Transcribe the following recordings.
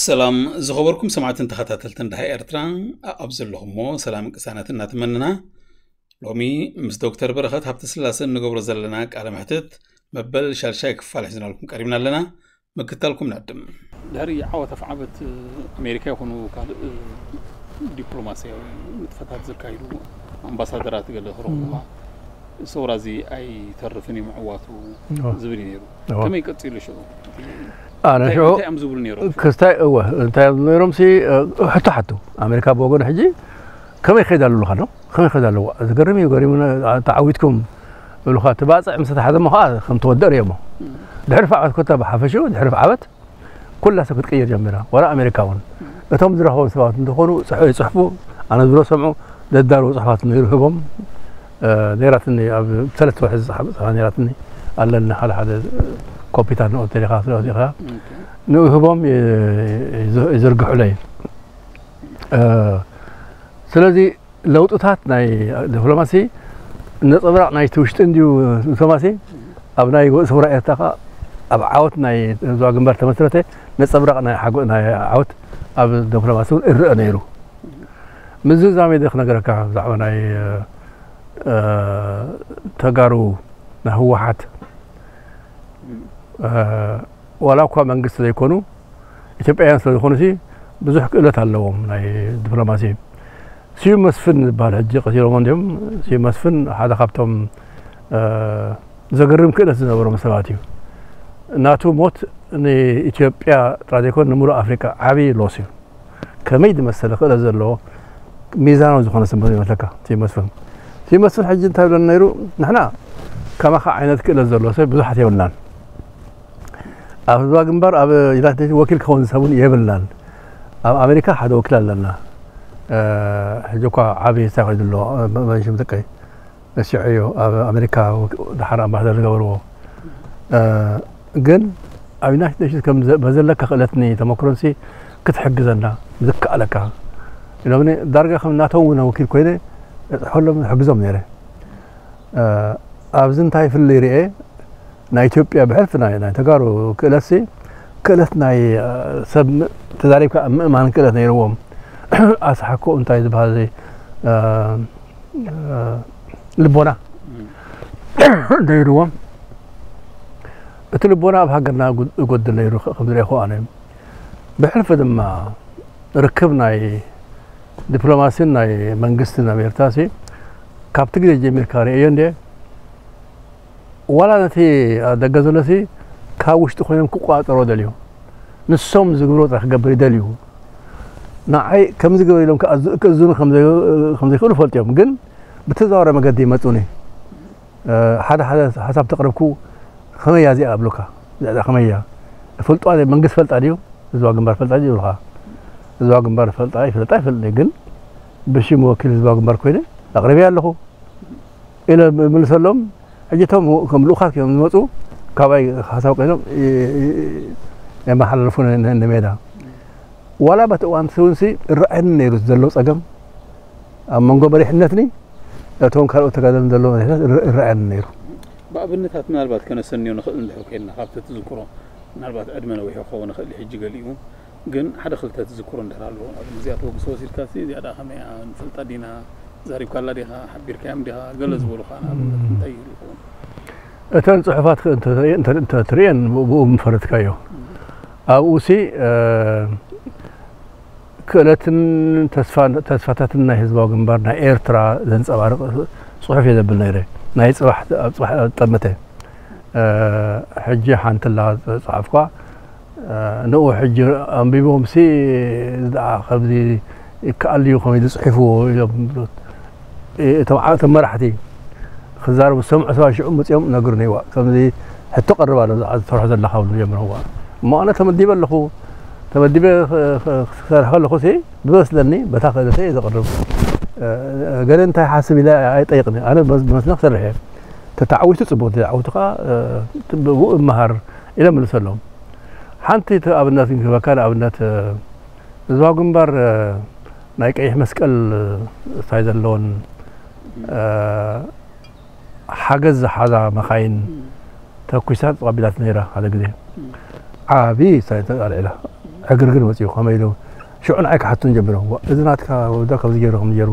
ሰላም ዝኸበርኩም ሰማዕትን ተኸታተልትን ደሃይ ኤርትራ፣ ኣብ ዘለኹሞ ሰላም ቅሳነት እናተመንና፣ ሎሚ ምስ ዶክተር በረኸት ሃብተስላሰ እንገብሮ ዘለና ቃለ መሕትት መበል ሻልሻይ ክፋል ሒዝናልኩም ቀሪብና ኣለና። ምክታልኩም ናድም። ድሕሪ ዓወት ኣፍዓበት ኣሜሪካ ይኹኑ ካልእ ዲፕሎማስያዊ ንጥፈታት ዘካይዱ ኣምባሳደራት ገለ ክረኽቡኻ፣ ሰውራ እዚ ኣይተርፍን እዩ ምዕዋቱ ዝብል እዩ ነይሩ። ከመይ ቀጺሉ ሽዑ? ኣነ ሽዑ እንታይ እዮም ዝብሉ ነይሮም? ክስታይ እወ እንታይ እዮም ነይሮም ሲ ሕቶ ሓቱ። ኣሜሪካ ብወገኑ ሕጂ ከመይ ይኸይድ ኣሎ ኢሉኻ ኣሎ። ከመይ ይኸይድ ኣለዎ? ዝገርም እዩ። ገሪሙ። ተዓዊትኩም ይብሉኻ። እቲ ባፅዕ ምስ ተሓዘ እሞ ከዓ ከም ተወደእ ርእዮሞ። ድሕሪ ፍዓበት ኮታ ብሓፈሽኡ ድሕሪ ፍዓበት ኩላ ሰብ ክትቅየር ጀሚራ። ዋላ ኣሜሪካ እውን እቶም ዝረኸቡ ሰባት እንተኾኑ ይፅሕፉ። ኣነ ዝብሎ ሰምዑ። ዘዳለዉ ፅሑፋት ነይሩ ህቦም ነይራትኒ። ኣብ ሰለስተ ወርሒ ዝፀሓፈ ነይራትኒ። ኣለኒ ሓደ ሓደ ኮፒታት ንኦ ተሪኻ ስለዚኻ ንኡ ህቦም ይዝርግሑለይ። ስለዚ ለውጥታት ናይ ዲፕሎማሲ ነፀብራቕ ናይቲ ውሽጢ እንድዩ። ዲፕሎማሲ ኣብ ናይ ሰውራ ኤርትራ ከዓ ኣብ ዓወት ናይ ህዝባዊ ግንባር ተመስረተ ነፀብራቕ ናይ ሓጎ ናይ ዓወት ኣብ ዲፕሎማሲ እውን እረአ ነይሩ። ምዝዛመይ ደ ክነገረካ ብዛዕባ ናይ ተጋሩ ናይ ህወሓት ዋላ እኳ መንግስቲ ዘይኮኑ ኢትዮጵያውያን ስለዝኾኑ ሲ ብዙሕ ክእለት ኣለዎም ናይ ዲፕሎማሲ። ስዩም መስፍን ዝበሃል ሕጂ ቀቲሎሞ እንዲዮም። ስዩም መስፍን ሓደ ካብቶም ዘገርም ክእለት ዝነበሮም ሰባት እዩ። ናቱ ሞት ንኢትዮጵያ ጥራይ ዘይኮነ ንምሉእ ኣፍሪቃ ዓብዪ ሎስ እዩ። ከመይ ዝመሰለ ክእለት ዘለዎ ሚዛናዊ ዝኾነ ሰብ ይመስለካ ስዩም መስፍን። ስዩም መስፍን ሕጂ እንታይ ብለና ነይሩ? ንሕና ከማኻ ዓይነት ክእለት ዘለዎ ሰብ ብዙሓት የብልናን። ኣብ ህዝባዊ ግንባር ኣብ ዩናይትድ ኔሽን ወኪል ክኸውን ሰብ እውን የብልናን። ኣብ ኣሜሪካ ሓደ ወኪል ኣለና። ሕጂ እኳ ዓብዪ ስታይ ኮይኑ ኣሎ። መንሽም ጥቀይ ነሲዑ እዩ ኣብ ኣሜሪካ ደሓር ኣምባሳደር ዝገበርዎ። ግን ኣብ ዩናይትድ ኔሽንስ ከም በዘለካ ክእለትኒ ተመክሮንሲ ክትሕግዘና ዝከኣለካ ኢሎምኒ። ዳርጋ ከም ናቶም እውን ወኪል ኮይነ እፅሕፈሎም ሕግዞም ነይረ። ኣብዚ እንታይ ፍልይ ርኤ? ናይ ኢትዮጵያ ብሕልፊ ናይ ናይ ተጋሩ ክእለትሲ ክእለት ናይ ሰብ ተዛሪብካ ምእማን ክእለት ነይርዎም። ኣስሓኮ እንታይ ዝበሃል ልቦና ነይርዎም። እቲ ልቦና ኣብ ሃገርና ይጎድል ነይሩ ከም ዝረእኹ ኣነ። ብሕልፊ ድማ ርክብ ናይ ዲፕሎማሲን ናይ መንግስትን ኣብ ኤርትራ ሲ ካብቲ ግዜ ጀሚርካ ርእዮ እንደ ዋላ ነቲ ደገ ዘሎሲ ካብ ውሽጢ ኮይኖም ክቆፃፀሮ ደልዩ ንሶም ዝግብሮ ጥራሕ ክገብር ይደልዩ። ንዓይ ከምዚ ግበር ኢሎም ክእዝዙኒ ከምዘይክእሉ ፈልጥዮም። ግን ብተዘዋዋሪ መገዲ ይመፁኒ። ሓደ ሓደ ሓሳብ ተቕረብኩ ከመያ እዚኣ ኣብሉካ። እዚኣ ከመያ ፈልጦ መንግስቲ ፈልጣ ድዩ? ህዝባዊ ግንባር ፈልጣ ድዩ ይብሉካ። ህዝባዊ ግንባር ፈልጣ ይፈልጣ ይፈልጥ ግን ብሽም ወኪል ህዝባዊ ግንባር ኮይነ ኣቕሪበያ ኣለኹ ኢለ ምልሰሎም። ሕጂ እቶም ከም ልኡኻት እዮም ዝመፁ ካባይ ሓሳብ ቀይሎም የመሓላልፉ ንሜዳ። ዋላ በቲ እዋን ስውንሲ እረኣየኒ ነይሩ ዘሎ ፀገም ኣብ መንጎ መሪሕነትኒ እቶም ካልኦት ተጋደልን ዘሎ መሪሕነት እረኣየኒ ነይሩ። ብኣብነታት ምናልባት ከነሰንዮ ንኽእል እንድሕር ኮይንና ካብቲ ትዝክሮ ምናልባት ዕድመ ነዊሑ ክኸውን ይኽእል ሕጂ ገሊኡ ግን ሓደ ክልተ ትዝክሮ እንድሕር ኣለዎ ኣብ እዚኣ ተበግሶ ወሲድካ ሲ እዚኣ ደኣ ከመይ እያ ንፈልጣ ዲና ዛሪብካላ ዲኻ ሓቢርካዮም ዲኻ ገለ ዝበሉኻ ንኣብነት እንታይ ይህሉ ይኸውን እተን ፅሑፋት ትርእየን ብኡ ምፈረድካዮ ኣብኡ ሲ ክእለትን ተስፋታትን ናይ ህዝባዊ ግንባር ናይ ኤርትራ ዘንፀባርቕ ፅሑፍ እየ ዘብል ነይረ ናይ ፅባሕ ኣብ ፅባሕ ጠመተ ሕጂ ሓንቲ ላ ፀሓፍኳ ንኡ ሕጂ ኣንቢቦም ሲ ከምዚ ይከኣል እዩ ከመይ ዝፅሒፍዎ ኢሎም እቶም ዓእቶም መራሕቲ ክዛረቡ ዝሰምዑ ሰባት ሽዑ መፅኦም ነግሩኒ ዋ ከምዚ ሕቶ ቀርብ ኣሎ ዝሰርሖ ዘለካ ብሉ ጀምረዋ እሞ ኣነ ተመዲበ ኣለኹ ተመዲበ ክሰርሕ ከለኹ ሲ ብመስለኒ በታ ክእለተይ እየ ዘቕርብ ገለ እንታይ ሓስብ ኢለ ኣይጠይቕኒ ኣነ ብመስለ ክሰርሕ እየ ተተዓዊቱ ፅቡቅ ተተዓዊቱ ከዓ ብኡ እመሃር ኢለ መልሰሎም ሓንቲ ኣብነት ክህበካ ንኣብነት ህዝባዊ ግንባር ናይ ቀይሕ መስቀል እንታይ ዘለዎን ሓገዝ ዝሓዛ መኻይን ተኩሳ ተቐቢላት ነይራ ሓደ ግዜ ዓብዪ ሳይንስ ኣልዒላ ዕግርግር መጺኡ። ከመይ ኢሉ ሽዑ ንዓይ ክሓቱን ጀሚሮም። "ዋ፣ እዚ ናትካ ወዳ ከምዚ ገይሩ፣ ከምዚ ገይሩ፣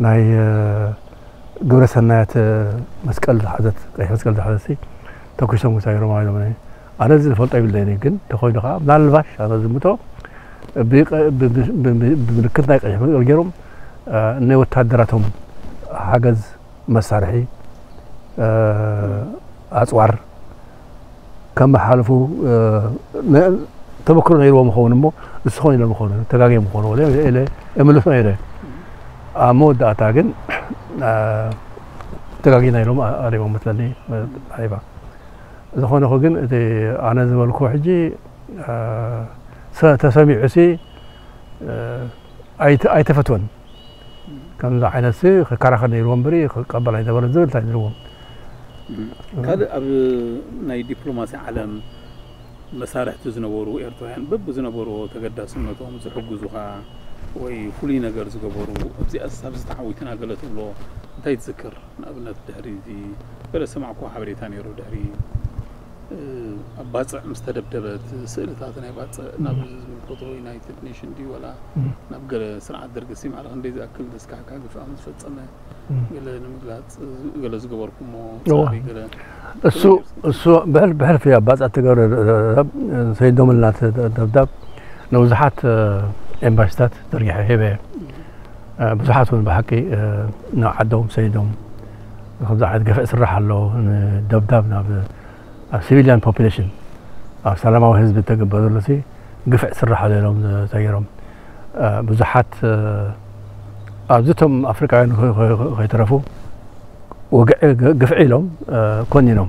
ናይ፣ እ፣ ግብረ ሰናያት፣ እ፣ መስቀል ዝሓዘት፣ ቀይሕ መስቀል ዝሓዘት ሲ ተኩሶም ውሳ ገይሮም" ኢሎም። ኣነ እዚ ዝፈልጦ ይብለኒ፣ ግን እንተኾይኑ ከዓ ምናልባሽ ኣነ ዝምቶ ብቀ-፣ ብ-፣ ብ-፣ ብ-፣ ብ-፣ ብምልክት ናይ ቀይሕ መስቀል ገይሮም፣ እ፣ ናይ ወታደራቶም ሓገዝ መሳርሒ፣ እ፣ ኣጽዋር ከመሓልፉ፣ እ፣ ነ-፣ ተመክሮ ነይርዎም ይኸውን እሞ፣ ንስኹም ኢሎም ይኾኑ፣ ተጋግዮም ይኾኑ፣ ወለ ኢለ እምልሶ ነይረ። ኣብ መወዳእታ ግን፣ እ፣ ተጋጊና ኢሎም ኣ-፣ ኣሪቦም መስለኒ፣ ኣሪባ። ዝኾነ ይኹን ግን፣ እቲ ኣነ ዝበልኩ ሕጂ፣ እ፣ ሰ-፣ ተሰሚዑሲ፣ እ፣ ኣይተ-፣ ኣይተፈትወን። ከምዚ ዓይነት ሲ ክከራኸር ነይርዎ እምበሪ ክቀበል ኣይነበረን ዝብል እንታይ ነይርዎም። እም። ካልእ ኣብ ናይ ዲፕሎማሲ ዓለም መሳርሕቲ ዝነበሩ ኤርትራውያን በብዝነበርዎ ተገዳስነቶም ዝሕግዙኻ ወይ ፍሉይ ነገር ዝገበሩ፣ ኣብዚኣስ ኣብዚ ተዓዊትና ገለ ትብሎ እንታይ ትዝክር? ንኣብነት ድሕሪ እዚ ገለ ዝሰማዕኩዎ ሓበሬታ ነይሩ፣ ድሕሪ፣ እ፣ ኣብ ባጽዕ ምስ ተደብደበት ስእልታት ናይ ባጽዕ ናብ እም። ዝምልከቶ ዩናይትድ ኔሽን ድዩ ዋላ እም። ናብ ገለ ስርዓት ደርጊ ሲ ማዕረ ክንደይ ዝኣክል ዘስካሕክሓ ግፍዓ ምስ ፈጸመ እም። ገለ ንምግላጽ ገለ ዝገበርኩሞ እዋ። ጻዕሪ ገለ እሱ፣ ከመይ ነይሩ? እሱ ብሕል-፣ ብሕልፊ ኣብ ባጽዕ እትገብረ ደብዳብ፣ ሰይዶምልና ደብዳብ ንብዙሓት፣ እ፣ ኤምባሲታት ዘርጊሐ ሂበ። እም። እ፣ ብዙሓት እውን ብሓቂ፣ እ፣ ናብ ዓዶም ሰይዶም። ከምዚ ዓይነት ግፍዒ ስራሕ ኣሎ፣ ንደብዳብ ናብ፣ ኣብ ሲቪልያን ፖፑሌሽን፣ ኣብ ሰላማዊ ህዝቢ እተገብረ ዘሎ ሲ ግፍዒ ስራሕ ኣሎ ኢሎም ተገይሮም። እ፣ ብዙሓት፣ እ፣ ኣብዚ እቶም ኣፍሪቃውያን ከ-፣ ከ-፣ ከ-፣ ከይተረፉ ወግዒ ግ-፣ ግፍዒ ኢሎም፣ እ፣ ኮኒኖም።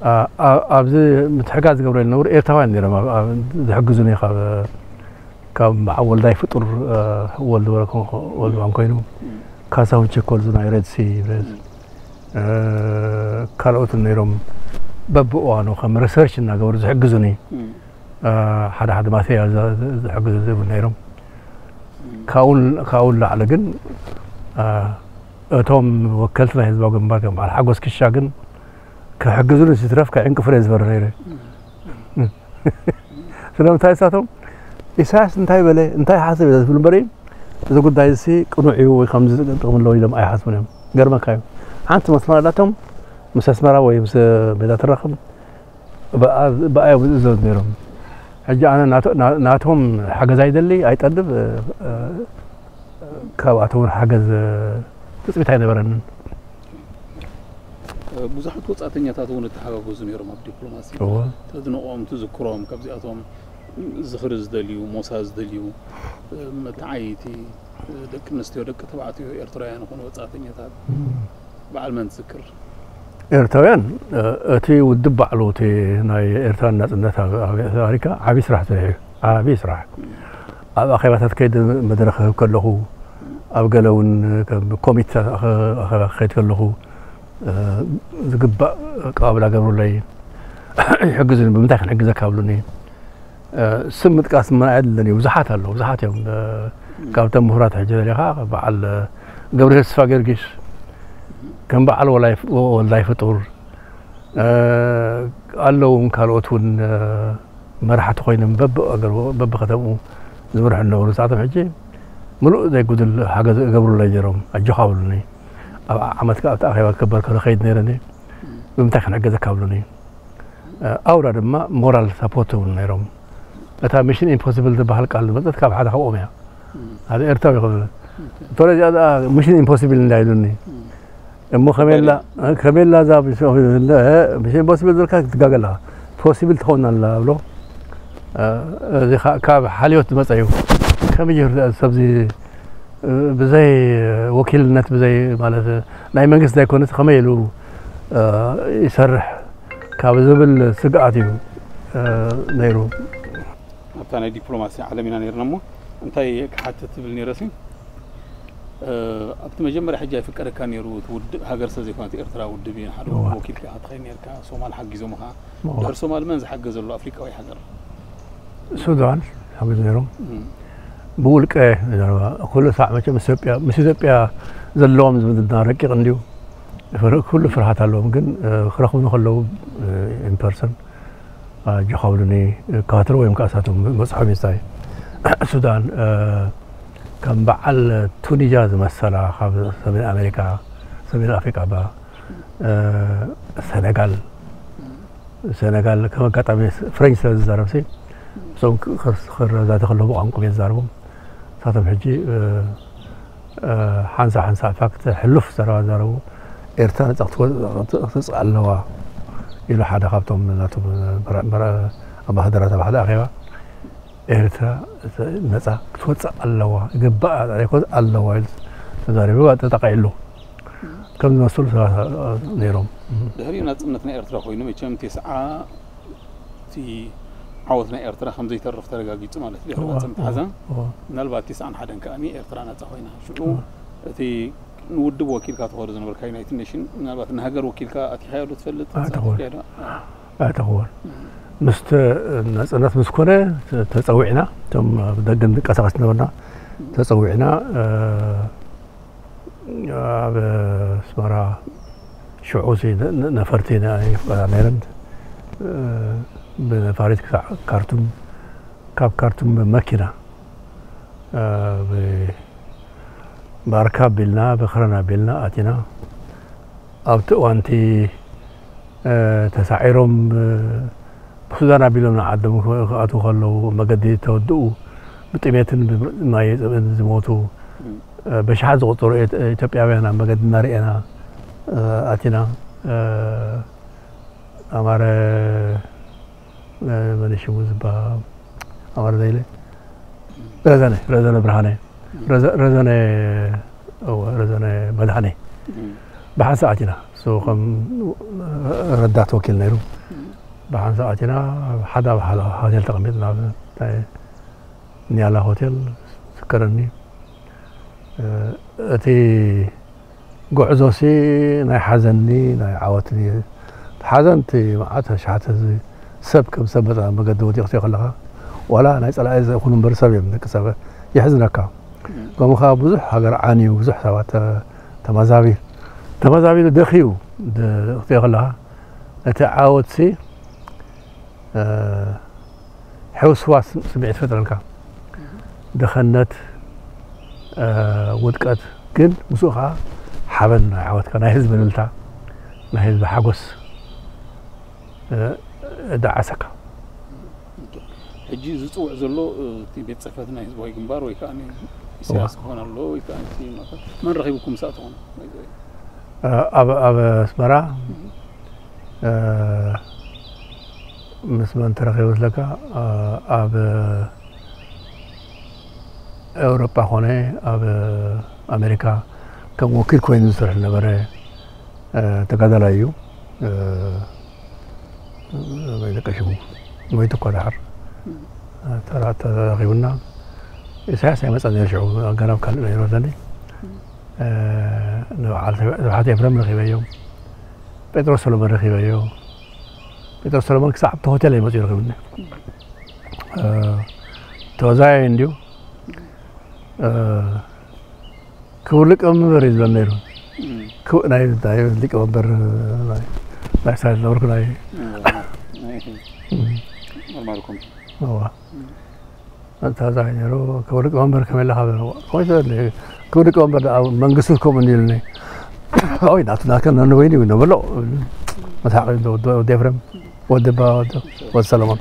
እ፣ ኣ-፣ ኣብዚ ምትሕጋዝ ዝገብሩ ዝነበሩ ኤርትራውያን ነይሮም ኣብ፣ ኣብ ዝሕግዙኒ ካብ፣ ካብ በዓል ወልዳይ ፍጡር፣ እ፣ ወልድ ወረ-፣ ወልድ ባን ኮይኑ፣ እም። ካሳሁን ቸኮል፣ እዚ ናይ ሬድ ሲ፣ ሬድ፣ እም። እ፣ ካልኦትን ነይሮም። በብእዋኑ ከም ሪሰርች እናገበሩ ዝሕግዙኒ፣ እም። እ፣ ሓደ ሓደ ማቴሪያል ዘ-፣ ዘ-፣ ዝሕግዙ ዝህቡ ነይሮም። እም። ካብኡ ን-፣ ካብኡ ንላዕሊ ግን፣ እ፣ እቶም ወከልቲ ናይ ህዝባዊ ግንባር ከም በዓል ሓጎስ ክሻ ግን ክሕግዙኒ ዝትረፍ ከዕንቅፉኒ እየ ዝፈሪ ነይረ። እም። ስለምንታይ ንሳቶም ኢሳያስ እንታይ በለ፣ እንታይ ሓሰብ ኢለ ዝብል እምበሪ፣ እዚ ጉዳይ እዚ ቅኑዕ እዩ ወይ ከምዚ ጥቕሚ ኣለዎ ኢሎም ኣይሓስቡን እዮም። ገርመካ እዩ። ሓንቲ መስመር ኣላቶም፣ ምስ ኣስመራ ወይ ምስ ሜዳ ትራኸብ፣ ብኣ-፣ ብኣዮም ዝእዘዙ ነይሮም። ሕጂ ኣነ ናቶ-፣ ና-፣ ናቶም ሓገዝ ኣይደሊ፣ ኣይጠልብ፣ እ፣ እ፣ ካብኣቶም እውን ሓገዝ፣ እ፣ ትጽቢት ኣይነበረንን። እ፣ ብዙሓት ወጻእተኛታት እውን እተሓጋገዙ ነይሮም ኣብ ዲፕሎማሲ። እወ። ተድንቖም፣ ትዝክሮም፣ ካብዚኣቶም ዝኽሪ ዝደልዩ፣ ሞሳ ዝደልዩ፣ እ፣ መተዓይይቲ፣ እ፣ ደቂ ኣንስትዮ፣ ደቂ ተባዕትዮ ኤርትራውያን ይኹኑ ወጻእተኛታት፣ እም። በዓል መን ትዝክር? ኤርትራውያን፣ እ፣ እቲ ውድብ ባዕሉ፣ እቲ ናይ ኤርትራ ናጽነት ኣብ፣ ኣብ ኣሜሪካ ዓቢ ስራሕ ሰሪሑ እዩ። ዓቢ ስራሕ። እም። ኣብ ኣኼባታት ከይደ መድረኽ ክህብ ከለኹ፣ ኣብ ገለ እውን ከም ኮሚቴ ኣኸ-፣ ኣኼባ ክኸይድ ከለኹ፣ እ፣ ዝግባእ ኣቀባብላ ገብሩለይ፣ ይሕግዙኒ፣ ብምንታይ ክንሕግዘካ ብሉኒ። እ፣ ስም ምጥቃስ ምን ኣየድልን እዩ፣ ብዙሓት ኣለዉ፣ ብዙሓት እዮም። እ፣ እም። ካብቶም ምሁራት ሕጂ ደሊኻ፣ በዓል፣ እ፣ ገብርሄር ተስፋ ጊዮርጊስ፣ ከም በዓል ወላይ-፣ ወልዳይ ፍጡር፣ እ፣ ኣለዉ እውን ካልኦት እውን፣ እ፣ መራሕቲ ኮይኖም በብኣገሩ፣ በብከተምኡ ዝምርሑ ዝነበሩ፣ ንሳቶም ሕጂ ምሉእ ዘይጉድል ሓገዝ ይገብሩለይ ነይሮም። ኣጆኻ ብሉኒ። ኣብ ዓመት ከኣ ኣብቲ ኣኼባ ክበር ከሎ ከይድ ነይረኒ። እም። ብምንታይ ክንሕገዘካ ብሉኒ። እ፣ ኣውራ ድማ ሞራል ሳፖርት እውን ነይሮም። እታ ሚሽን ኢምፖሲብል ዝበሃል ቃል ዝመጸት ካብ ሓደ ካብኦም እያ። እም። ሓደ ኤርትራዊ ይኹን። ኦኬ። እንተሎ እዚኣ ደኣ ሚሽን ኢምፖሲብል እንዳ ኢሉኒ። እም። እሞ ከመይ ኣላ፣ እንታይ? እ፣ ከመይ ኣላ እዛ ሚሽን ኢምፖሲብል፣ እ፣ ሚሽን ኢምፖሲብል ዝበልካ ትጋገ ኣለኻ። ፖሲብል ትኸውን ኣላ ብሎ። እ፣ እዚ ኻ-፣ ካብ ሓልዮት ዝመጸ እዩ። ከመይ ገይሩ ሰብዚ፣ እ፣ ብዘይ ወኪልነት፣ ብዘይ ማለት ናይ መንግስቲ ዘይኮነስ ከመይ ኢሉ፣ እ፣ ይሰርሕ ካብ ዝብል ስግኣት እዩ፣ እ፣ ነይሩ። ኣብታ ናይ ዲፕሎማሲ ዓለም ኢና ነይርና እሞ እንታይ ክሓትት ትብል ነይረሲ፣ እ፣ ኣብቲ መጀመርያ ሕጂ ኣይፍቀደካ ነይሩ፣ እቲ ውድብ ሃገር ስለ ዘይኮነት ኤርትራ ውድብ እዩ፣ ንሓደ እዋ። ውድብ ወኪልካ ክትኸይድ ነይርካ፣ ሶማል ሓጊዞምኻ። እዋ። ድሕሪ ሶማል መን ዝሓገዘሉ ኣፍሪቃዊ ሃገር? ሱዳን ሓገዝ ነይሮም። እም። ብውልቀ ዘረባ፣ ኩሉ ሳዕ መቸም ምስ ኢትዮጵያ፣ ምስ ኢትዮጵያ ዘለዎም ዝምድና ረቂቕ እንድዩ። ፍር-፣ ኩሉ ፍርሃት ኣለዎም፣ ግን፣ እ፣ ክረኽቡኒ ከለዉ፣ እ፣ ኢን ፐርሰን ኣጆኻ ብሉኒ፣ እከታተሎ ወይም ከኣ እሳቶም በጽሖም እዩ ዝታይ። ሱዳን፣ እ፣ ከም በዓል ቱኒዝያ ዝመሰላ ካብ ሰሜን ኣሜሪካ፣ ሰሜን ኣፍሪቃ ባ፣ እ፣ ሰነጋል፣ ሰነጋል ከም ኣጋጣሚ ፍሬንች ስለ ዝዛረብሲ፣ እሶም ክ-፣ ክር-፣ ክረዳዳእ ከለዉ ብቋንቋኦም እየ ዝዛረቦም። ንሳቶም ሕጂ፣ እ፣ እ፣ ሓንሳእ ሓንሳእ ፋክት ሕሉፍ ዘረባ ዘረቡ። ኤርትራ ነጻ ክትወ-፣ ክትወጽእ ኣለዋ ኢሉ ሓደ ካብቶም ናቶም በረ-፣ በረ-፣ ኣምባሳደራት ኣብ ሓደ ኣኼባ፣ ኤርትራ ነጻ ክትወጽእ ኣለዋ፣ ይግባኣ፣ ኣይኮን ኣለዋ ኢሉ ተዛሪቡ፣ ተጠቒዕሉ። ከም ዝመስሉ ሰባት ነይሮም። ድሕሪኡ ናጽነት ናይ ኤርትራ ኮይኑ መቸም ቴስዓ እቲ ዓወት ናይ ኤርትራ ከም ዘይተርፍ ተረጋጊጹ ማለት እዩ። ድሕሪ እዋ፣ ናጽነት እዋ፣ ሓዘን እዋ። ምናልባት ቴስዓን ሓደን ከኣ ኤርትራ ናጻ ኮይና። ሽዑ እዋ። እቲ ንውድብ ወኪልካ ትኸዶ ዝነበርካ ዩናይትድ ኔሽን ምናልባት ንሃገር ወኪልካ ኣቲኻዮ ዶ ትፈልጥ? ኣይተኸወን። ተሳቲፍካዮ ዶ? ኣይተኸወን። ምስ ተ-፣ ናጽነት ምስ ኮነ ተ-፣ ተጸዊዕና፣ እቶም ኣብ ደገ ንንቀሳቐስ ዝነበርና ተጸዊዕና፣ እ፣ ኣብ ኣስመራ ሽዑ ሲ ነ-፣ ነ-፣ ነፈርቲ ነ-፣ ይፍቀዳ ነይረን። እ፣ ብነፋሪት ክሳዕ ካርቱም፣ ካብ ካርቱም ብመኪና፣ እ፣ ብ-፣ ብኣርካ ኣቢልና፣ ብክረን ኣቢልና ኣቲና። ኣብቲ እዋንቲ፣ እ፣ ተሳዒሮም፣ እ፣ ብሱዳን ኣቢሎም ንዓዶም ክኣትዉ ከለዉ፣ መገዲ ተወድኡ፣ ብጥሜትን ብማይ ጽምእን ዝሞቱ፣ እ፣ በሽሓት ዝቑጸሩ ኤት-፣ ኢትዮጵያውያን ኣብ መገዲ እናርኤና፣ እ፣ ኣቲና። እ፣ ኣማረ፣ እ፣ መን ሽሙ ዝበሃል? ኣማረ ዘይለ? ረዘነ፣ ረዘነ ብርሃነ። ረዘ-፣ ረዘነ፣ እወ፣ ረዘነ መድሃኔ። ብሓንሳእ ኣቲና። እሱ ከም ረዳት ወኪል ነይሩ። ብሓንሳእ ኣቲና፣ ኣብ ሓደ ኣብ ሓደ ሆቴል ተቐሚጥና፣ ኣብ ናይ ኒያላ ሆቴል ዝዝከረኒ። እ፣ እቲ ጉዕዞሲ ናይ ሓዘንኒ ናይ ዓወትኒ። እቲ ሓዘን እቲ መዓት ኣሽሓት ህዝቢ ሰብ ከም ሰብ መጠን ኣብ መገዲ ወዲቕትዮ ከለኻ፣ ዋላ ናይ ጸላኢ ዘይኹኑ እምበር ሰብ እዮም፣ ደቂ ሰብ የሕዝነካ። ከምኡ ከኣ ብዙሕ ሃገር ዓንዩ፣ ብዙሕ ሰባት ተ-፣ ተመዛቢ-፣ ተመዛቢሉ ደኽዩ ድ-፣ ክትሪኦ ከለኻ፣ እቲ ዓወትሲ፣ እ፣ ሕውስዋስ ስምዒት ይፈጥረልካ። ድኸነት፣ እ፣ ውድቀት፣ ግን ምስኡ ከኣ ሓበን ናይ ዓወትካ፣ ናይ ህዝቢ እልልታ፣ ናይ ህዝቢ ሓጎስ፣ እ፣ እደዓሰካ። ሕጂ ዝጽውዕ ዘሎ፣ እ፣ እቲ ቤት ጽሕፈት ናይ ህዝባዊ ግንባር ወይ ከኣ ኢሳያስ ክኾን ኣለዎ ወይ ከኣ እቲ መን ረኺብኩም ምስ ኣተኹም? እ፣ ኣብ፣ ኣብ ኣስመራ፣ እ፣ ምስ መን ተረኺቡ ዝለካ፣ እ፣ ኣብ ኤውሮጳ ኮነ ኣብ ኣሜሪካ ከም ወኪል ኮይኑ ዝሰርሕ ዝነበረ፣ እ፣ ተጋዳላይ እዩ። እ፣ ወይ ደቀ ሽሙ ሞይቱ እኳ ደሓር፣ እ፣ ተራ-፣ ተራኺቡና። ኢሳያስ ኣይመጸን ነይሩ ሽዑ፣ ገና ኣብ ካልእ ነይሩ ኣለኒ። እ፣ ንበዓል ስብሓት ኤፍረም ረኺበዮ። ጴጥሮስ ሰሎሞን ረኺበዮ። ጴጥሮስ ሰሎሞን ክሳዕ ኣብቲ ሆቴል እዩ መጺኡ ረኺቡኒ። እ፣ ተወዛያይ እንድዩ። እ፣ ክቡር ሊቀመንበር እዩ ዝብለኒ ነይሩ። እም። ክቡ-፣ ናይ፣ ናይ ሊቀመንበር፣ ናይ፣ ናይ ሳይድ ነበርኩ፣ ናይ እም። እም። መርማሪ ኮሚሽን። እዋ። እም። ኣታዛይ ነይሩ፣ ክቡር ሊቀመንበር ከመይ ኣለኻ? በለ። ከመይ ትበል? ክቡር ሊቀመንበር ደኣ መንግስቱ ከምኡ እንዲሉኒ። ኦይ፣ ናቱ ናትከ ነንበይኑ እዩ፣ ነበሎ። መስሓቕ እዩ፣ ወዲ፣ ወዲ ኤፍሬም፣ ወዲ ባ፣ ወዲ፣ ወዲ ሰለሞን።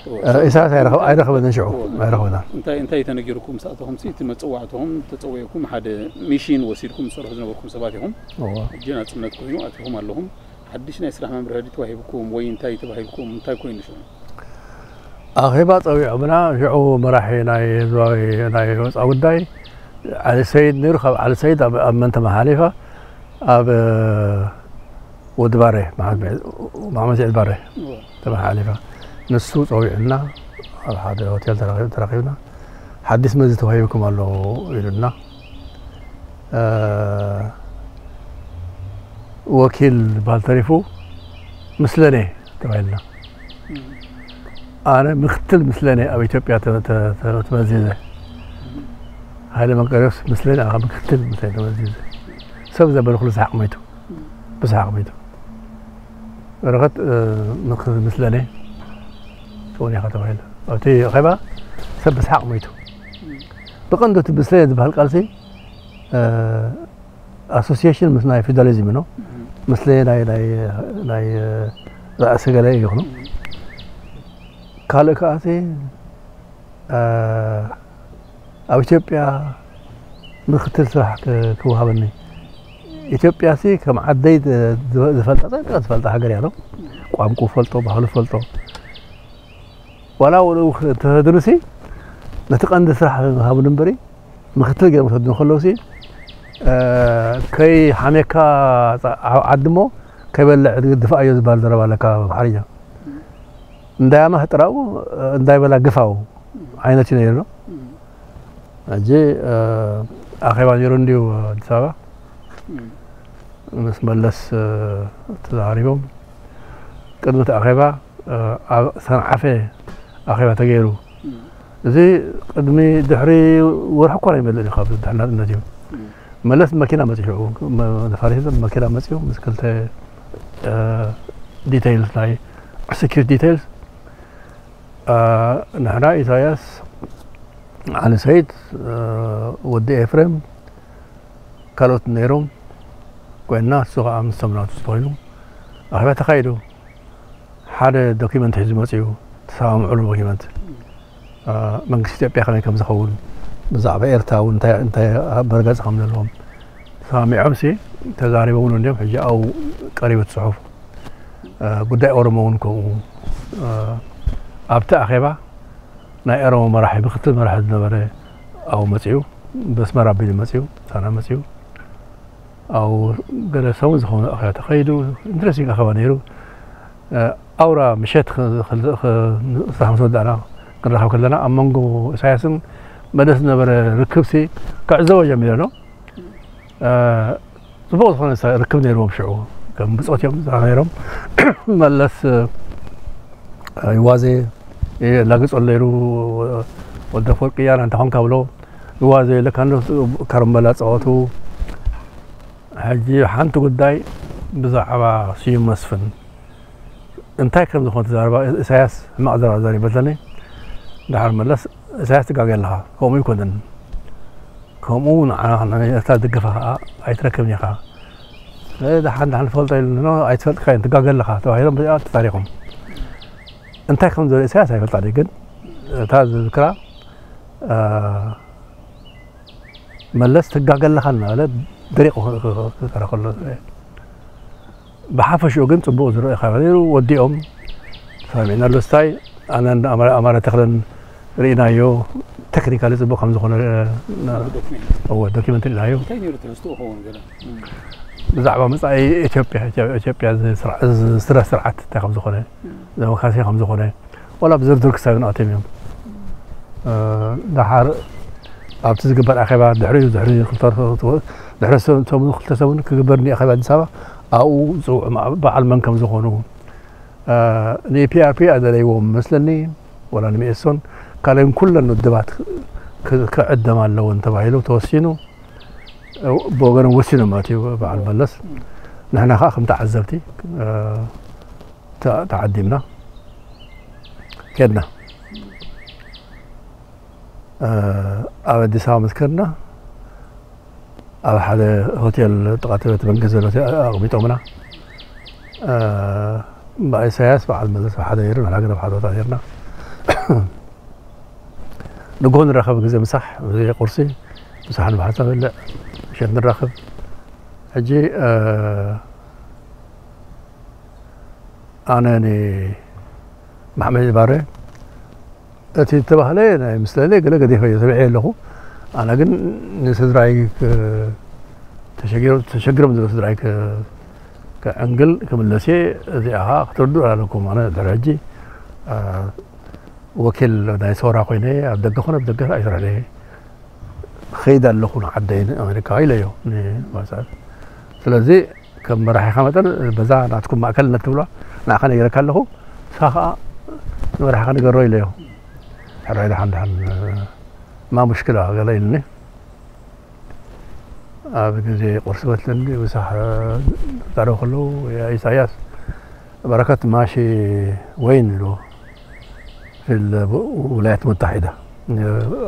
እዎ፣ እ፣ ኢሳያስ ኣይረኸብ-፣ ኣይረኸበንን ሽዑ፣ እዎ። ኣይረኸበናን። እንታይ፣ እንታይ ተነጊርኩም ምስ ኣተኹም ሲ፣ እቲ መጸዋዕትኹም ተጸዊዕኩም ሓደ ሚሽን ወሲድኩም ትሰርሑ ዝነበርኩም ሰባት ኢኹም። እዎ። ሕጂ ናጽነት ኮይኑ ኣቲኹም ኣለኹም። ሓድሽ ናይ ስራሕ መምርሒ ድዩ ተዋሂብኩም ወይ እንታይ ተባሂልኩም፣ እንታይ ኮይኑ ሽዑ? ኣኼባ ጸዊዖምና፣ ሽዑ መራሒ ናይ ህዝባዊ ናይ ወጻኢ ጉዳይ ዓሊ ሰይድ ነይሩ። ካብ ዓሊ ሰይድ ኣብ፣ ኣብ መን ተመሓሊፋ? ኣብ፣ እ፣ ወዲ ባሬ፣ መሓመድ፣ መሓመድ ስዒድ ባሬ እዎ። ተመሓሊፋ። ንሱ ጸዊዑና፣ ኣብ ሓደ ሆቴል ተራኺብ-፣ ተራኺብና፣ ሓድሽ መዚ ተዋሂብኩም ኣሎ ኢሉና። እ፣ ወኪል ባል ተሪፉ፣ ምስለኔ ተባሂልና። እም። ኣነ ምክትል ምስለኔ ኣብ ኢትዮጵያ ተ-፣ ተ-፣ ተ-፣ ተመዚዘ። እም። ሃይለ መርቆሬዎስ ምስለኔ፣ ኣነ ምክትል ምስለኔ ተመዚዘ። ሰብ ዘበለ ኩሉ ሰሓቕ ሞይቱ። እም። ብሰሓቕ ሞይቱ። በረኸት፣ እ፣ ምክ-፣ ምስለኔ ትኾን ኢኻ ተባሂሉ። ኣብቲ ኣኼባ ሰብ ብስሓቕ ሞይቱ። ብቐንዱ እቲ ምስለኔ ዝበሃል ቃልሲ፣ እ፣ ኣሶሲዬሽን ምስ ናይ ፊውዳሊዝም ነው። ምስለኔ ናይ፣ ናይ፣ ናይ፣ እ፣ ራእሲ ገለ ይኹኑ። ካልእ ከኣሲ፣ እ፣ ኣብ ኢትዮጵያ ምክትል ስራሕ ክ-፣ ክወሃበኒ። ኢትዮጵያ ሲ ከም ዓደይ ዝ-፣ ዝፈልጣ፣ ጠንቂቐ ዝፈልጣ ሃገር እያ፣ ቋንቋ ፈልጦ፣ ባህሉ ፈልጦ። ዋላ ወልኡ ተሰድኑ ሲ፣ ነቲ ቀንዲ ስራሕ ሃቡኒ እምበሪ፣ ምክትል ገይሮም ክሰድኑ ከለዉ ሲ፣ እ፣ ከይሓሜካ ዓ-፣ ዓዲ እሞ ከይበልዕ ድፋኣዮ ዝበሃል ዘረባ ኣለካ ብሓርኛ። እንዳያመህ ጥራው፣ እንዳይበላ ግፋው ዓይነት እዩ ነይሩ። ሕጂ፣ እ፣ ኣኼባ ነይሩ እንድዩ ኣዲስ ኣበባ። ምስ መለስ፣ እ፣ ተዛሪቦም። ቅድሚ እቲ ኣኼባ፣ እ፣ ኣብ ሰንዓፈ ኣኼባ ተገይሩ። እዚ ቅድሚ ድሕሪ ወርሒ እኳ ኣይመልእን እዩ ካብ ድሕሪ ናጽነት እዩ። መለስ መኪና መጺኡ፣ መ-፣ ነፋሪት መኪና መጺኡ ምስ ክልተ፣ እ፣ ዲቴይልስ ናይ ኤክስኪዩቲቭ ዲቴይልስ፣ እ፣ ንሕና ኢሳያስ፣ ዓሊ ሰይድ፣ እ፣ ወዲ ኤፍሬም፣ ካልኦት ነይሮም ኮይንና፣ እሱ ኸኣ ምስቶም ናቱ ተኾይኑ ኣኼባ ተኻይዱ። ሓደ ዶኪመንት ሒዙ መጺኡ፣ ተሰማምዑሉ ዶኪመንት። እ፣ መንግስቲ ኢትዮጵያ ከመይ ከም ዝኸውን፣ ብዛዕባ ኤርትራ እውን እንታይ፣ እንታይ መርገጺ ከም ዘለዎም ተሰማሚዖም ሲ ተዛሪቦምሉ እንዲዮም። ሕጂ ኣብኡ ቀሪቡ እቲ ጽሑፍ። እ፣ ጉዳይ ኦሮሞ እውን ከምኡ። እ፣ ኣብቲ ኣኼባ ናይ ኦሮሞ መራሒ፣ ምክትል መራሒ ዝነበረ ኣብኡ መጺኡ፣ በስመራ ኣቢሉ መጺኡ፣ ሳና መጺኡ። ኣብኡ ገለ ሰሙን ዝኸውን ኣኼባ ተኸይዱ። ኢንትረስቲንግ ኣኼባ ነይሩ። እ፣ ኣውራ ምሸት ኽ-፣ ኽ-፣ ኽ-፣ ስራሕ ምስ ወዳእና ክንራኸብ ከለና፣ ኣብ መንጎ ኢሳያስን መለስ ዝነበረ ርክብሲ ክዕዘቦ ጀሚረ ኣሎ። እ፣ ጽቡቕ ዝኾነ ሰ-፣ ርክብ ነይርዎም ሽዑ። ከም ብጾት እዮም ነይሮም። መለስ፣ እ፣ ይዋዜ፣ እ፣ ላግጾ ነይሩ፣ ወልደ ኣፈወርቂ፣ ኣነ እንታይ ኮንካ ብሎ፣ ይዋዜ፣ ለካ እንዶ ከረምበላ ጸወቱ። ሕጂ ሓንቲ ጉዳይ ብዛዕባ ስዩም መስፍን እንታይ ከም ዝኾነ ተዛረባ፣ ኢሳያስ ሕማቕ ዘረባ ዘሪበትለኒ። ድሓር መለስ፣ ኢሳያስ ትጋገ ኣለኻ፣ ከምኡ ኣይኮነን። ከምኡ ንዓና ንኤርትራ ዝድግፋ ኸኣ ኣይትረክብን ኢኻ። እ፣ ደሓን፣ ደሓን ትፈልጦ ኢሉ፣ ኖ፣ ኣይትፈልጥካዮን፣ ትጋገ ኣለኻ ተባሂሎም ብዚኣ ተታሪኾም። እንታይ ከም ዝበለ ኢሳያስ ኣይፈልጣን እየ፣ ግን እታ ዝዝክራ፣ እ፣ መለስ ትጋገ ኣለኻ እናበለ ደሪቑ ክ-፣ ክ-፣ ክ-፣ ክዛረብ ከሎ። ብሓፈሽኡ ግን ጽቡቕ ዝረአ ካብ ነይሩ፣ ወዲኦም ተሰማሚዕናሉ። ስታይ ኣነን ኣማረ፣ ኣማረ ተኽለን ርኢናዮ፣ ቴክኒካሊ ጽቡቕ ከም ዝኾነ፣ እ፣ ና-፣ ዶክሜንት። እወ፣ ዶኪመንት ርኢናዮ። እንታይ ነይሩ ትሕዝትኡ ክኸውን ገለ? እም። ብዛዕባ መጻኢ ኢትዮጵያ፣ ኢትዮ-፣ ኢትዮጵያ እዚ ስርዓ-፣ እዚ ስረ ስርዓት እንታይ ከም ዝኾነ፣ እም። ዴሞክራሲ ከም ዝኾነ፣ ዋላ ብዝርዝር ክሳብ ንኣትዮም እዮም። እ፣ ደሓር ኣብቲ ዝግበር ኣኼባ ድሕሪኡ፣ ድሕሪ ክልተ ወርሒ፣ ድሕሪ ሰ-፣ ሰሙን፣ ክልተ ሰሙን ክግበር እኒኦ ኣኼባ ኣዲስ ኣበባ፣ ኣብኡ ዝጽውዑ ማ-፣ በዓል መን ከም ዝኾኑ፣ እ፣ ንፒኣርፒ ኣደለይዎም መስለኒ፣ ዋላ ንሚኤሶን፣ ካልኦን ኩለን ውድባት ክ-፣ ክዕደማ ኣለወን ተባሂሉ ተወሲኑ። እ፣ ብወገኖም ወሲኖም ማለት እዩ በዓል መለስ። ንሕና ኸኣ ከም ተዓዘብቲ፣ እ፣ ተ-፣ ተዓዲምና ኬድና። እ፣ ኣብ ኣዲስ ኣበባ ምስ ከድና፣ ኣብ ሓደ ሆቴል ጥቓ እቲ ቤተ መንግስቲ ዘሎ ሆቴል ኣቕሚጦምና። እ፣ እምበኣር ኢሳያስ በዓል መለስ ኣብ ሓደ ነይሩ፣ ንሕና ግን ኣብ ሓደ ቦታ ነይርና። ንግሆ ንራኸብ ግዜ ምሳሕ፣ ግዜ ቁርሲ፣ ምሳሕ ንብሓንሳብ ንበልዕ፣ ምሸት ንራኸብ። ሕጂ፣ እ፣ ኣነ ንማሕመድ ባረ እቲ ዝተባህለ ናይ ምስለለ ገለ ገዲፈዮ፣ ሰሚዐዮ ኣለኹ። ኣነ ግን ንስድራይ ክ-፣ ተሸጊሮም፣ ተሸጊሮም ዘለዉ ስድራይ ክ-፣ ከዕንግል ክምለስ እየ። እዚኣ ኸዓ ክትርድኡ ኣለኩም። ኣነ ድሕሪ ሕጂ፣ እ፣ ወኪል ናይ ሰውራ ኮይነ ኣብ ደገ ኮነ ኣብ ደገ ኣይሰርሕን እየ። ክኸይድ ኣለኹ ንዓደይ ንኣሜሪካ ኢለዮ ንባሳት። ስለዚ ከም መራሒኻ መጠን በዛ ናትኩም ማእከልነት ትብሏ ንዓኻ ነጊረካ ኣለኹ፣ ንስኻ ኸኣ ንመራሒኻ ንገሮ ኢለዮ። ሕራይ ደሓን ደሓን ማ ሙሽክላ ገለ ኢሉኒ። ኣብ ግዜ ቁርሲ በትለኒ ምሳሕ ዛረቡ ከለዉ፣ ያ ኢሳያስ፣ በረከት ማሺ ወይን ኢሉ في الولايات المتحدة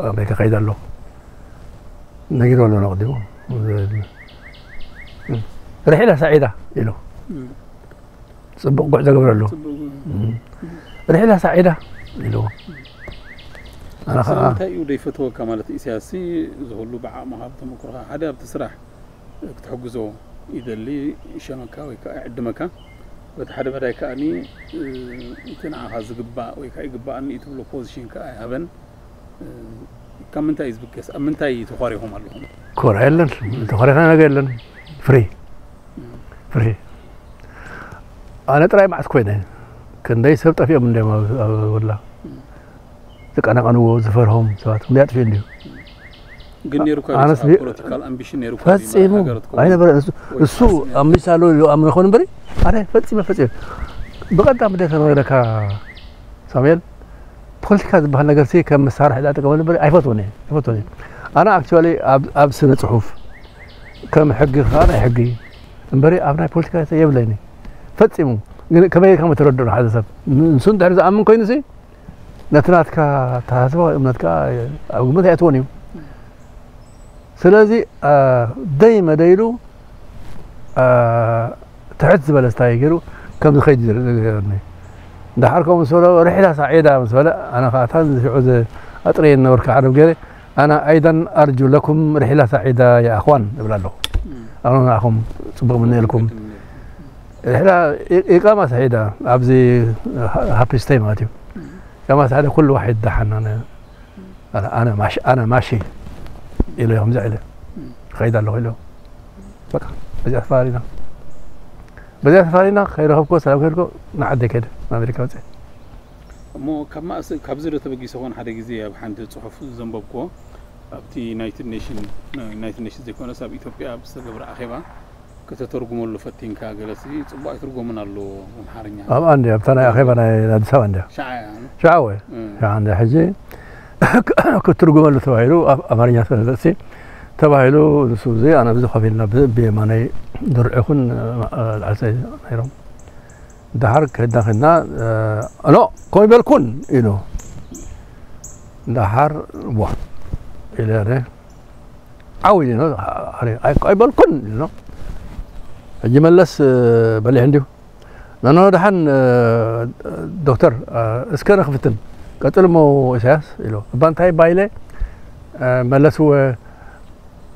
ኣሜሪካ ከይደ ኣሎ ነጊሩ ኣሎ ኣቐዲሙ ርሒላ ሳዒዳ ኢሉ ጽቡቕ ጉዕዞ ገብረሉ ርሒላ ሳዒዳ ኢሉ ኣነ ከዓ እንታይ እዩ ደይፈትወካ ማለት ኢሳያስ እዚ ሁሉ ብዓቕምኻ ብተመክሮኻ ሓደ ኣብቲ ስራሕ ክትሕግዞ ይደሊ ይሸመካ ወይ ከዓ ይዕድመካ በቲ ሓደ መዳይ ከዓኒ እቲ ንዓኻ ዝግባእ ወይ ከዓ ይግባኣኒ እዩ ትብሎ ፖዚሽን ከዓ ይሃበን ካብ ምንታይ እዩ ዝብገስ ኣብ ምንታይ ተኳሪኹም ኣለኹም ኮራ የለን ተኾሪኻ ነገር የለን ፍሪ ፍሪ ኣነ ጥራይ መዓስ ኮይነ ክንደይ ሰብ ጠፊኦም እንዲም ኣብላ ዝቀናቀንዎ ዝፈርሆም ሰባት ክንደይ ኣጥፊኡ እንዲዩ ግን ነይሩካ ኣነስ ቢ- ፖለቲካል ኣምቢሽን ነይሩካ ፈጺሙ ሃገር ትከውን? ኣይነበረ እሱ- ወይ እሱ ፓርቲ ነይሩ? ኣምቢሳ ኣሎ ኢሉ ኣምነ ይኾን እምበሪ ኣነ ፈጺመ ፈጺመ ብቐዳም እንደ ተረደካ ሳሙኤል ፖለቲካ ዝበሃል ነገር ሲ ከም መሳርሒ ዳ ጥቀመሉ እምበሪ ኣይፈትዎን እየ ኣይፈትዎን እየ ኣነ ኣክቹዋሊ ኣብ ኣብ ስነ ጽሑፍ ከም ሕጊ ከዓ ናይ ሕጊ እምበሪ ኣብ ናይ ፖለቲካ የብለይኒ ፈጺሙ ግን ከመይ ከም ተረድኦ ሓደ ሰብ ንሱ እንድሕር ዝኣምን ኮይኑ ሲ ነቲ ናትካ ኣተሓሳስባ እምነት ከዓ ኣብ ግምት ኣይኣትዎን እዩ ስለዚ ደይ መደይሉ ትሕት ዝበለ ስታይ ገይሩ ከም ዝኸይድ ዝርኒ እንዳሓር ከምኡ ምስ በሎ ርሒላ ሳዒዳ ምስ በለ ኣነ ከዓ እታ ሽዑ ኣጥረየ ነበርካ ዓረብ ገይረ ኣነ ኣይደን ኣርጁ ለኩም ርሒላ ሳዒዳ የኣኽዋን እብል ኣለኹ ኣነ ንዓኹም ፅቡቅ ምንኤልኩም ርሒላ ኢቃማ ሳዒዳ ኣብዚ ሃፒ ስታይ ማለት እዩ ኢቃማ ሳዒዳ ኩሉ ዋሒድ ዳሓና ኣነ ማሺ ኣነ ማሺ ኢለ ከምዚ ኢለ ኸይድ ኣለኹ ኢለ በቃ በዚኣ ተፋሪና በዚኣ ተፋሪና ከይረኸብኮ ሰላም ከድኮ ንዓደ ከደ ኣሜሪካ ወፅአ እሞ ካብ ማእስ ካብዚ ዶ ተበጊሰ ኾን ሓደ ግዜ ኣብ ሓንቲ ፅሑፍ ዘንበብኮ ኣብቲ ዩናይትድ ኔሽን ዩናይትድ ኔሽን ዘይኮነስ ኣብ ኢትዮጵያ ኣብ ዝተገብረ ኣኼባ ከተተርጉመሉ ፈቲንካ ገለሲ ጽቡቕ ኣይትርጎምን ኣሎ ኣምሓርኛ ኣብኣ እንዲ ኣብታ ናይ ኣኼባ ናይ ኣዲስ ኣበባ እንዲያ ሸዓ እያ ሸዓ ወ ሸዓ እንዲያ ሕጂ ክትርጉመሉ ተባሂሉ ኣብ ኣማርኛ ስለዘእሲ ተባሂሉ ንሱ እዚ ኣነ ብዚ ኮፍ ኢልና ብየማናይ ድርዑ ይኹን ላዕሰይ ነይሮም ደሓር ከድና ከድና ኖ ከምኡ ይበልኩን ኢሉ ደሓር ዋ ኢለ ዓው ኢሉ ኣይበልኩን ኢሉ ሕጂ መለስ በሊሕ እንዲሁ ኖኖ ደሓን ዶክተር እስከ ንክፍትን ቀፅል እሞ ኢሳያስ ኢሉ እባ እንታይ ባይለ መለስወ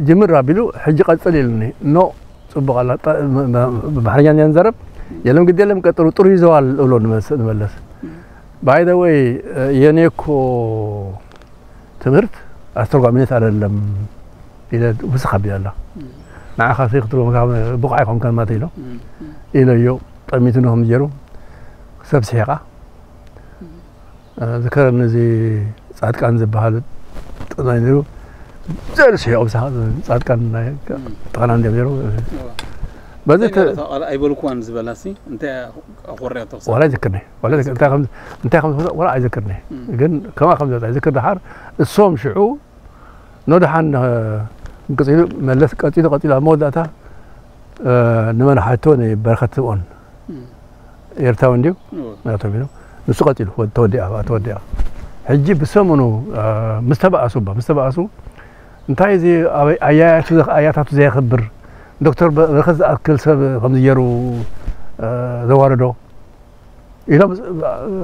ጅምር ኣቢሉ ሕጂ ቀፅል ኢሉኒ ኖ ፅቡቅ ኣላ ብኣምሓርኛ እንዘረብ የለም ግዲ የለም ቀጥሉ ጥሩ ይዘዋል እብሎ ንመለስ ባይደወይ የኔኮ ትምህርት ኣስተርጓሚነት አይደለም ኢለ ውስኽ ኣቢላ ኣላ ንዓኻ ሲ ክትርጎም ብቑዕ ኣይኮንካን ማለት ኢሎ ኢለዮ ጠሚቱ ንኹም ገይሩ ሰብ ስሒቓ ዝከረኒ እዚ ጻድቃን ዝበሃል ጥናይ ነይሩ ዘል ስሒቑ ብሳኻ ጻድቃን ናይ ጥዕና እንዲም ነይሩ በዚ እንታይ ተ- ማለት ቃል ኣይበልኩዋን ዝበላሲ እንታይ ኣኾርያ ተኽሳ ዋላ ይዝክርኒ ዋላ ይዝክር- እንታይ ከም እንታይ ከም ዝፈ- ዋላ ኣይዝክርኒ ግን ከማ ከም ዝወጣ ይዝክር ደሓር እሶም ሽዑ ኖ ደሓን ቀፂሉ መለስ ቀፂሉ ቀፂሉ ኣብ መወዳእታ ንመን ሓቶ ንበረኸት ስምኦን ኤርትራዊ እንድዩ ናቶም ኢሉ ንሱ ቀፂሉ ተወዲኣ ተወዲኣ ሕጂ ብሰሙኑ ምስ ተባኣሱ እባ ምስ ተባኣሱ እንታይ እዚ ኣያያቱ ኣያታቱ ዘየኽብር ዶክተር በረኸት ዝኣክል ሰብ ከምዚ ገይሩ ዘዋርዶ ኢሎም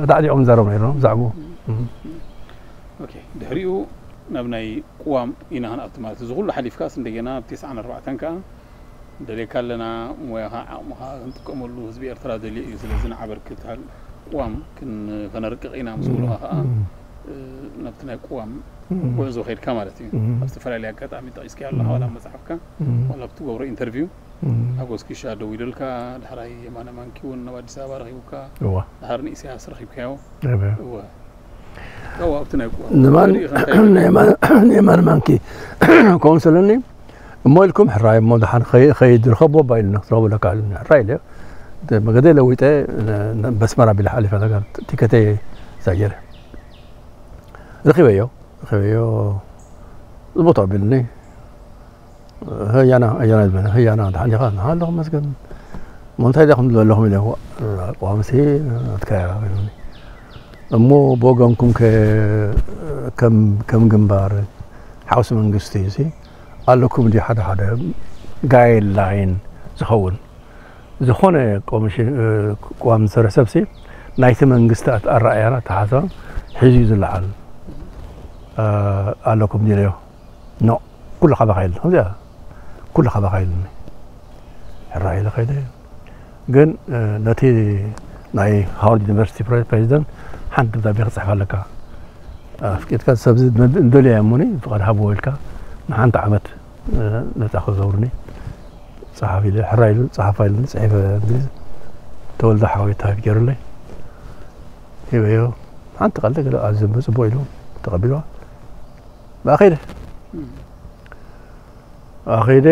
ዳዕዲዖም ዘረቡ ነይሮም ብዛዕባኡ ድሕሪኡ ናብ ናይ ቅዋም ኢና ክንኣቱ ማለት እዚ ኩሉ ሓሊፍካስ እንደገና ኣብ ተስዓን ኣርባዕተን ከዓ ደልየካ ኣለና ሞያኻ ዓቕምኻ ክንጥቀመሉ ህዝቢ ኤርትራ ደልዮ እዩ ስለዚ ንዓበርክት ቅዋም ከነርቅቕ ኢና ምስ በሉኻ ከዓ ናብቲ ናይ ቅዋም ጉዕዞ ከይድካ ማለት እዩ ኣብ ዝተፈላለየ ኣጋጣሚ ጠቂስካ ኣለኻ ዋላ መፅሓፍካ ዋላ ኣብ ትገብሮ ኢንተርቪው ሓጎስ ኪሻ ደዊሉልካ ዳሕራይ የማነ ማንኪ እውን ናብ ኣዲስ ኣበባ ረኪቡካ ዳሕር ንኢሳያስ ረኪብካዮ እወ ንየማን ማንኪ ከምኡ ስለኒ እሞ ኢልኩም ሕራይ እሞ ድሓን ከይድ ርከቦ ባ ኢሉና ክትረኽቡ ለካ ኢሉኒ ሕራይ ኢለ መገደ ለዊጠ በስመራ ቢለ ሓሊፈ ነገር ቲከተይ ሳጀረ ረኺበዮ ረኺበዮ ጽቡቅ ተቐቢሉኒ ህያና ህያና ዝበለ ህያና ድሓን ዲኻ ኣለኹ መስገን እሞ እንታይ ዲኹም ዘለኹም ኢለ፣ ቋምሲ ናትካ እያ ኢሉኒ። እሞ ብወገንኩም ከ ከም ከም ግንባር ሓውሲ መንግስቲ እዚ ኣለኩም ድዩ ሓደ ሓደ ጋይድላይን ዝኸውን? ዝኾነ ኮሚሽን፣ እ፣ ቅዋም ዝሰርሕ ሰብሲ ናይቲ መንግስቲ ኣት-፣ ኣረኣእያን ኣተሓሳስባን ሒዙ እዩ ዝለዓል፣ እ፣ ኣለኩም ድዩ ኢለዮ። ኖ፣ ኩሉ ካባኻ የለን። ከምዚኣ ኩሉ ካባኻ የለን። ሕራይ ኢለ ከይደ። ግን፣ እ፣ ነቲ ናይ ሃዋርድ ዩኒቨርሲቲ ፕሬ-፣ ፕሬዚደንት ሓንቲ ደብዳቤ ክጽሕፍ ኣለካ። ኣፍቂድካ ሰብዚ ንደልዮ እያ እሞኒ ፍቓድ ሃብዎ ኢልካ ንሓንቲ ዓመት፣ እ፣ ነጻ ክዘውርኒ ጸሓፍ ኢለ፣ ሕራይ ኢሉ ጸሓፋ ኢሉኒ ጽሒፈ። እንግሊዝ ተወልደ ሓወይ ታይፕ ገይሩለይ ሂበዮ። ሓንቲ ቃል ገለ ኣዝዩ ጽቡቕ ኢሉ ተቐቢልዋ። ብኣ ከይደ። ኣኺደ፣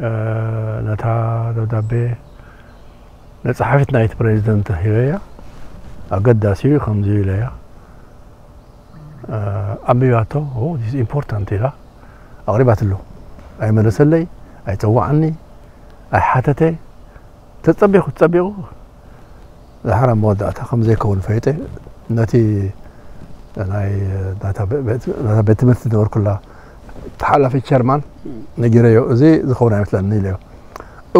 እ፣ ነታ ደብዳቤ ንጸሓፊት ናይቲ ፕሬዚደንት ሂበያ። ኣገዳሲ እዩ ከምዚ ኢለያ። እ፣ ኣንቢባቶ። ኦ፣ this is important ኢላ ኣቕሪባትሉ። ኣይመለሰለይ፣ ኣይጸዋዓኒ፣ ኣይሓተተ። ተጸቢኹ፣ ተጸቢኹ። ድሓር ኣብ መወዳእታ ከም ዘይከውን ፈይጠ። ነቲ ናይ ናታ ቤ-፣ ቤት፣ ናታ ቤት ትምህርቲ ዝነበርኩላ ተሓላፊ ቸርማን ነጊረዮ፣ "እዚ ዝኸውን ኣይመስለኒ" ኢለዮ።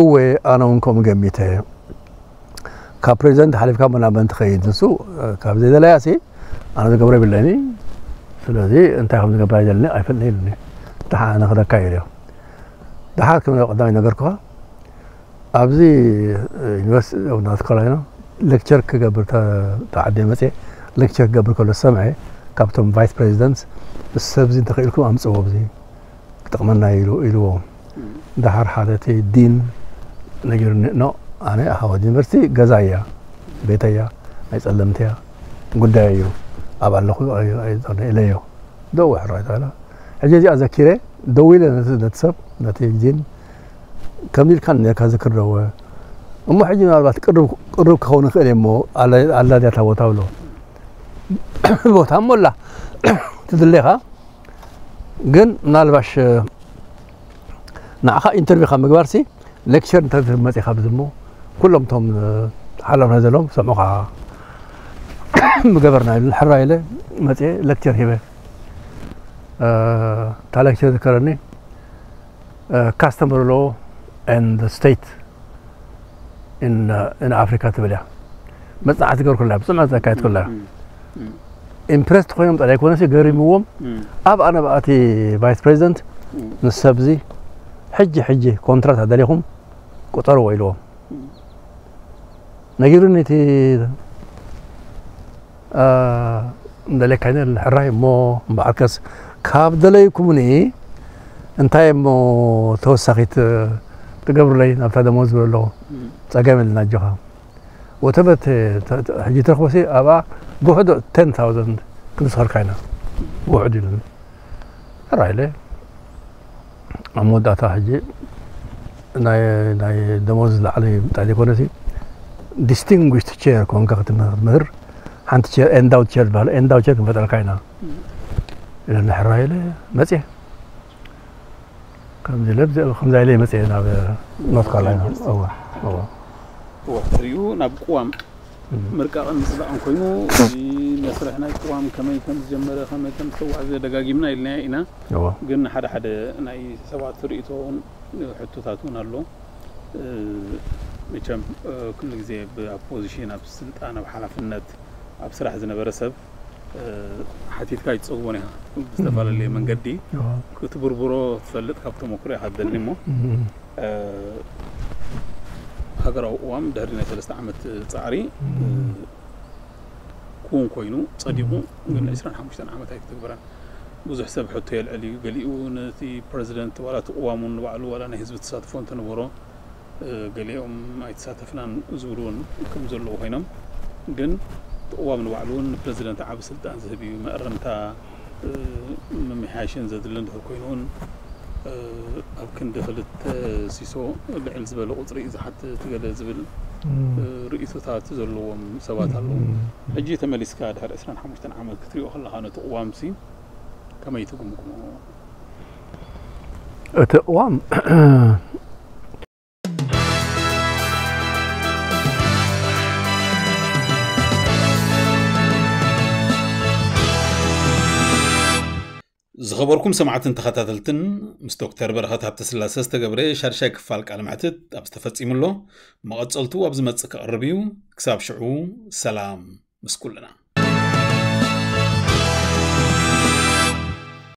"እወ፣ ኣነ እውን ከምኡ ገሚተ። ካብ ፕሬዚደንት ሓሊፍካ እሞ ናብ መን ትኸይድ? ንሱ ካብ ዘይደለያሲ ኣነ ዝገብሮ የብለኒ። ስለዚ እንታይ ከም ዝገብር ኣይደለኒ፣ ኣይፈልጥን" ኢሉኒ። ደሓር ኣነ ክረካ ኢለዮ። ደሓር ከም ቀዳማይ ነገርኩኻ፣ ኣብዚ ዩኒቨርሲቲ ኦፍ ኖርት ካሮላይና ሌክቸር ክገብር ተ-፣ ተዓድየ መፅየ። ሌክቸር ክገብር ከሎ ዝሰምዐ ካብቶም ቫይስ ፕሬዚደንትስ፣ "ሰብዚ እንተኽኢልኩም ኣምፅዎ፣ ኣብዚ ክጠቕመና እዩ" ኢሉ፣ ኢልዎም። ደሓር ሓደ እቲ ዲን ነጊሩኒ፣ "ኖ፣ ኣነ ሃዋርድ ዩኒቨርሲቲ ገዛ እያ፣ ቤተይ እያ፣ ናይ ፀለምቲ እያ፣ ጉዳይ እዩ፣ ኣብ ኣለኹ ኣይ-፣ ኣይዞን" ኢለዮ። ደው ሕራይ ተባለ። ሕጂ እዚኣ ዘኪረ ደው ኢለ ነቲ፣ ነቲ ሰብ፣ ነቲ ዲን፣ "ከምዚ ኢልካ ነርካ ዝክር ደወ። እሞ ሕጂ ምናልባት ቅርብ፣ ቅርብ ክኸውን ይኽእል እየ እሞ፣ ኣላ፣ ኣላ ድያ እታ ቦታ?" ብሎ። "ቦታ እሞ ኣላ፣ ትድሌኻ፣ ግን ምናልባሽ ንዓኻ ኢንተርቪው ካብ ምግባርሲ፣ ሌክቸር እንተ መፂኻ ኣብዚ እሞ፣ ኩሎም እቶም ሓላፍነት ዘለዎም ሰምዑኻ ምገበርና" ኢሉ። ሕራይ ኢለ መፅየ፣ ሌክቸር ሂበ። እ፣ እታ ሌክቸር ዝከረኒ፣ እ፣ ካስተመር ሎ ኤንድ ስቴት ኢን፣ እ፣ ኢን ኣፍሪካ ትብል እያ። መፅናዕቲ ገርኩላ፣ ብፅምዕቲ ዘካየድኩላ። እም፣ እም። ኢምፕረስድ ኮይኖም ጥራይ ኣይኮነሲ ገሪምዎም። እም። ኣብ ኣነ ብኣቲ ቫይስ ፕሬዚደንት እም። ምስ ሰብዚ ሕጂ፣ ሕጂ ኮንትራት ኣደሊኹም ቁጠርዎ ኢልዎም። እም። ነጊሩኒ እቲ፣ እ፣ እንደለካ ሕራይ እሞ እምበኣርከስ ካብ ደለይኩምኒ እንታይ እሞ ተወሳኺት ትገብሩለይ ናብታ ደሞዝ ዝብሎ ኣለኹ። እም። ጸገም የለን ኣጆኻ። ወተበት ተ-፣ ተ-፣ ሕጂ ትረኽቦሲ ኣብኣ ጉሕዶ ቴን ታውዘንድ ክንስኸልካ ኢና። ጉሕድ ኢሉኒ። ሕራይ ኢለ። ኣብ መወዳእታ ሕጂ ናይ፣ ናይ ደሞዝ ዝለዓለ ምጣይ ዘይኮነሲ፣ ዲስቲንጉሽድ ቼር ኮንካ ክትምህር፣ ሓንቲ ቼር፣ ኤንዳውት ቼር ዝበሃል፣ ኤንዳውት ቼር ክንፈጥረልካ ኢና። እም። ኢለኒ ሕራይ ኢለ መፅየ። ከምዚ ኢለ፣ ከምዚ ኢለ መፅየ ናብ ኖርት ካሮላይና። ዩኒቨርሲቲ። እወ፣ እወ። እወ፣ ድሕሪኡ ናብ ቅዋም እም። ምርቃቕን ምጽዳቕን ኮይኑ፣ እዚ መስርሕ ናይ ቅዋም ከመይ ከም ዝጀመረ፣ ከመይ ከም ዝተጓዕዘ ደጋጊምና ኢልናዮ ኢና። እወ። ግን ሓደ ሓደ ናይ ሰባት ርእይቶ እውን፣ ሕቶታት እውን ኣሎ። እ፣ መቸም፣ እ፣ ኩሉ ግዜ ብ-፣ ኣብ ፖዚሽን፣ ኣብ ስልጣን፣ ኣብ ሓላፍነት፣ ኣብ ስራሕ ዝነበረ ሰብ፣ እ፣ ሓቲትካ ኣይትጸግቦን ኢኻ። ብዝተፈላለየ እም። መንገዲ እወ። ክትብርብሮ ትፈልጥ ካብ ተመክሮ ኢኻ ትደሊ እሞ፣ እም። እ፣ ሃገራዊ ቅዋም ድሕሪ ናይ ሰለስተ ዓመት ጻዕሪ፣ እም። እ፣ ክውን ኮይኑ ጸዲቑ፣ እም። ግን ዕስራን ሓሙሽተን ዓመት ኣይተተግበረን። ብዙሕ ሰብ ሕቶ የልዕል እዩ። ገሊኡ ነቲ ፕረዚደንት ዋላ እቲ ቅዋሙ ንባዕሉ ዋላ ናይ ህዝቢ ተሳትፎ እንተነበሮ፣ እ፣ ገሊኦም ኣይተሳተፍናን ዝብሉ እውን ከም ዘለዉ ኮይኖም፣ ግን እቲ ቅዋም ንባዕሉ እውን ንፕረዚደንት ዓቢ ስልጣን ዝህብ እዩ። መእረምታ፣ እ፣ ምምሕያሽን ዘድልን እንድሕር ኮይኑ እውን፣ እ፣ ኣብ ክንዲ ክልተ ሲሶ ልዕል ዝበለ ቁጽሪ እዩ ዝሓትት ገለ ዝብል፣ እም። እ፣ ርእይቶታት ዘለዎም ሰባት ኣለዉ። እም። ሕጂ ተመሊስካ ድሕሪ ዕስራን ሓሙሽተን ዓመት ክትሪኦ ከለኻ ነቲ ቅዋምሲ ከመይ ትግምግሞ? እቲ ቅዋም ዝኸበርኩም ሰማዕትን ተኸታተልትን፣ ምስ ዶክተር በረኸት ሃብተስላሰ ዝተገብረ ሻድሻይ ክፋል ቃለ መሕትት ኣብ ዝተፈጺሙ ኣሎ። መቐጸልቱ ኣብ ዝመጽእ ክቐርብ እዩ። ክሳብ ሽዑ ሰላም ምስ ኩልና።